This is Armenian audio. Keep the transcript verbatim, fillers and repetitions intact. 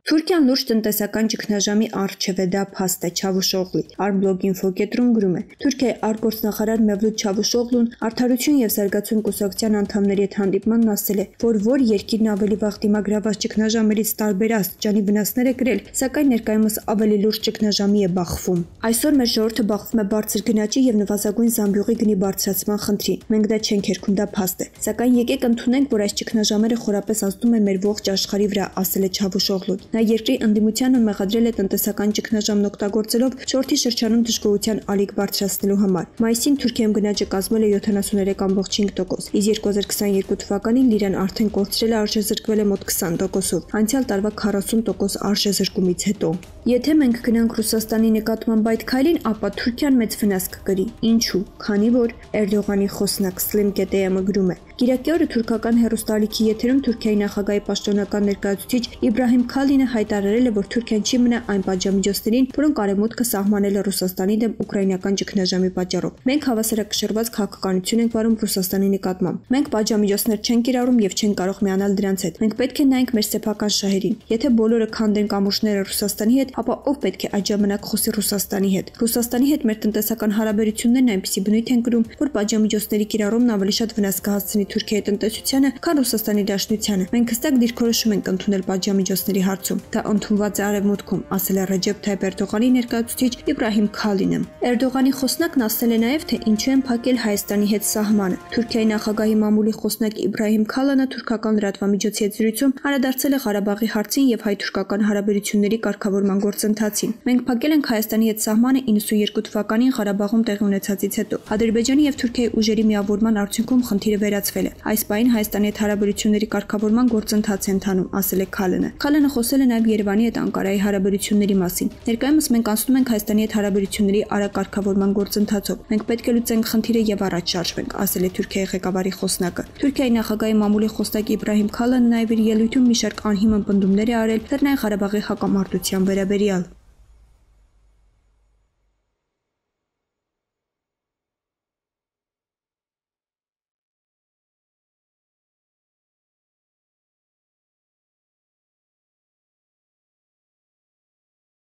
Թուրքիան լուրջ տնտեսական ճգնաժամի առջև է, դա փաստ է Չավուշօղլի։ Arblog.info կետրում գրում է. Թուրքիայի արտգործնախարար Մևլութ Չավուշօղլուն Արդարություն եւ զարգացում կուսակցության անդամների հետ հանդիպմանն ասել է, որ որ երկիրն ավելի վաղ դիմագրաված ճգնաժամերից տարբեր աստիճանի վնասներ է կրել, սակայն ներկայումս ավելի լուրջ ճգնաժամի է բախվում։ Այսօր մեր ժողովուրդը բախվում է բարձր գնաճի եւ նվազագույն զամբյուղի գնի բարձրացման խնդրին։ Մենք դա չենք երգում, դա փաստ է։ Սակայն եկեք ընդունենք, որ այս ճգնաժամերը խորապես ազդում են մեր ողջ աշխարհի վրա, ասել է Չավուշօղլուն։ Նա երկրի ընդդիմությանը մեղադրել է տնտեսական ճգնաժամն օգտագործելով շորթի շրջանում դժգոհության ալիք բարձրացնելու համար։ Մայիսին Թուրքիայում գնաճը կազմել է յոթանասուններեք կόμμα չինգ տոկոս, իսկ երկու հազար քսաներկու թվականին լիրան արդեն կորցրել է արժեզրկվել է մոտ քսան տոկոսով, անցյալ տարվա քառասուն տոկոս արժեզրկումից հետո։ Եթե մենք գնանք Ռուսաստանի նկատմամբ այդ քայլին, ապա Թուրքիան մեծ վնաս կկրի։ Ինչու՞։ Քանի որ Էրդողանի խոսնակ Slim.am-ը գրում է. Կիրակի օրը թուրքական հեռուստաալիքի եթերում Թուրքիայի նախագահի պաշտոնական ներկայացուցիչ Իբրահիմ Քալինը հայտարարել է, որ Թուրքիան չի մնա այն պատժամիջոցներին, որոնք արևմուտքը սահմանել է Ռուսաստանի դեմ ուկրաինական ճգնաժամի պատճառով։ Մենք հավասարակշռված քաղաքականություն ենք վարում Ռուսաստանի նկատմամբ։ Մենք պատժամիջոցներ չենք կիրառում եւ չենք կարող միանալ դրանց հետ։ Մենք պետք է նայենք մեր սեփական շահերին։ Եթե բոլորը քանդեն կամուրջները Ռուսաստանի հետ, ապա ով պետք է այդ ժամանակ խոսի Ռուսաստանի հետ։ Ռուսաստանի հետ մեր տնտեսական հարաբերություններն այնպիսի բնույթ են կրում, որ պատժամիջոցների կիրառումն ավելի շատ վնաս կհասցնի Թուրքիայի տնտեսությանը, քան Ռուսաստանի Դաշնությանը։ Մենք հստակ դիրքորոշում ենք ընդունել պատժամիջոցների հարցում։ Դա ընդունված է արևմուտքում, ասել է Ռեջեփ Թայիփ Էրդողանի ներկայացուցիչ Իբրահիմ Քալինը։ Էրդողանի խոսնակն ասել է նաև, թե ինչու են փակել Հայաստանի հետ սահմանը։ Թուրքիայի նախագահի մամուլի խոսնակ Իբրահիմ Քալանը թուրքական լրատվամիջոցի հետ զրույցում անդրադարձել է Ղարաբաղի հարցին եւ հայ-թուրքական հարաբերությունների կարգավորման գործընթացին։ Մենք փակել ենք Հայաստանի հետ սահմանը իննսունյերկու թվականին Ղարաբաղում տեղի ունեցածից հետո։ Ադրբեջանի եւ Թուրքիայի ուժերի միավորման արդյունքում խնդիրը վերացվել է։ Այս պահին Հայաստանի հետ հարաբերությունների կարգավորման գործընթաց է ընթանում, ասել է Քալանը։ Քալանը խոսել է նաև Երևանի հետ Անկարայի հարաբերությունների մասին։ Ներկայումս մենք անցնում ենք Հայաստանի հետ հարաբերությունների արագ կարգավորման գործընթացով։ Մենք պետք է լուծենք խնդիրը եւ առաջ շարժվենք, ասել է Թուրքիայի ղեկավարի խոսնակը։ Թուրքիայի նախագահի մամուլի խոսնակ Իբրահիմ Քալանը նաև իր ելույթում մի շարք անհիմն պնդումներ է արել Լեռնային Ղարաբաղի հակամարտության վերաբերյալ։